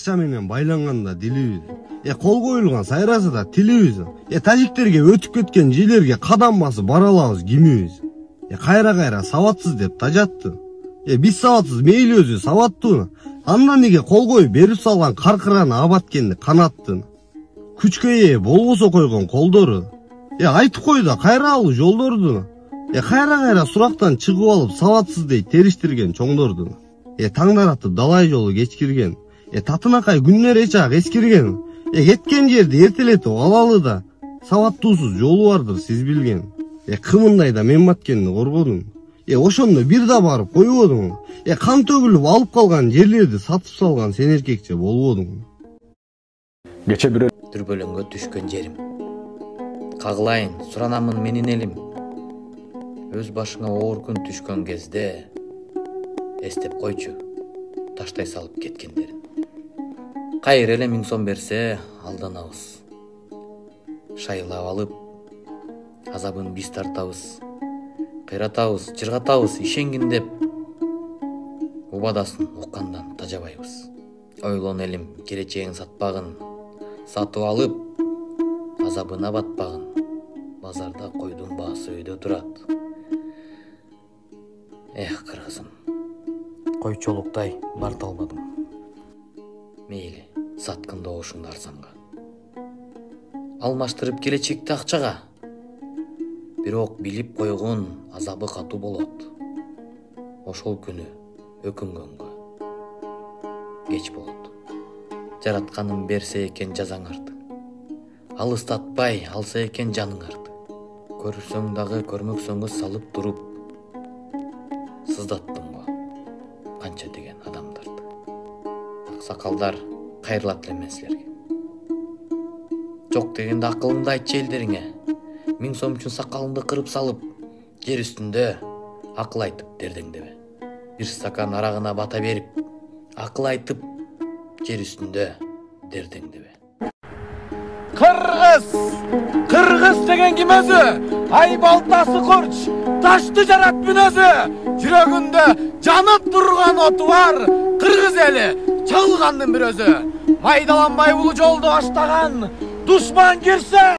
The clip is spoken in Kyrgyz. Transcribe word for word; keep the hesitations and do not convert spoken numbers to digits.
акча менен байланганда дилибиз. Э кол коюлган сайрасыда тилибиз. Э тажиктерге өтүп кеткен жерлерге кадам басып бара алабыз кимибиз. Э кайра-кайра сабатсыз деп тажатты. Э биз сабатсыз мейли өзү сабаттуу. Андан неге кол коюп берип салган каркыраны абаткенди канаттын. Күчкө ээ болбосо койгон колдору. Э айтып кой да кайра алуу жолдорду. Э кайра-кайра сурактан чыгып алып сабатсыз дейт териштирген чоңдорду. Э таңдаратып далай жолу кечкирген. Э татынакай күндөр эч ак эскирген. Э кеткен жерди эртелетип алалы да сабаттуусуз жолу бардыр сиз билген. Э кымындай да мен баткенди коргодум. Э ошондо бир да барып койбодуң. Э кан төгүлүп алып калган жерлерди сатып салган сен эркекче болбодуң. Кече бирөө дүрбөлөңгө түшкөн жерим. Кагылайын, суранамын менин элим. Өз башыңа оор күн түшкөн кезде эстеп койчу таштай салып кеткендерин. Кайыр эле миң сом берсе алданабыз. Шайлап алып азабын биз тартабыз. Кыйратабыз, чыргатабыз, ишенгин деп убадасын уккандан тажабайбыз. Ойлон элим, келечегин сатпагын, сатып алып азабына батпагын. Базарда койдун баасы өйдө турат. Эх, кыргызым, койчолуктай барта албадым. Мейли, саткын добушуңду арзанга. Алмаштырып келечекти акчага. Бирок билип койгон азабы катуу болот. Ошол күнү өкүнгөнгө кеч болот. Жаратканым берсе экен жазаңарды. Алыстатпай алса экен жаныңарды. Көрсөң дагы көрмөксөңгө салып туруп сыздаттым го канча деген адамдарды. Аксакалдар кайрылат элем мен силерге. Жок дегенде акылыңды айтчы элдериңе. Миң сом үчүн сакалыңды кырып салып, жер үстүндө акыл айтып дердеңдебе. Бир стакан арагына бата берип, акыл айтып, жер үстүндө дердеңдебе. Кыргыз! Кыргыз деген ким өзү? Ай балтасы курч, ташты жарат мүнөзү. Жүрөгүндө жанып турган оту бар. Кыргыз эли чалгандын бир өзү. Майдаланбай бул жолду баштаган душман кирсе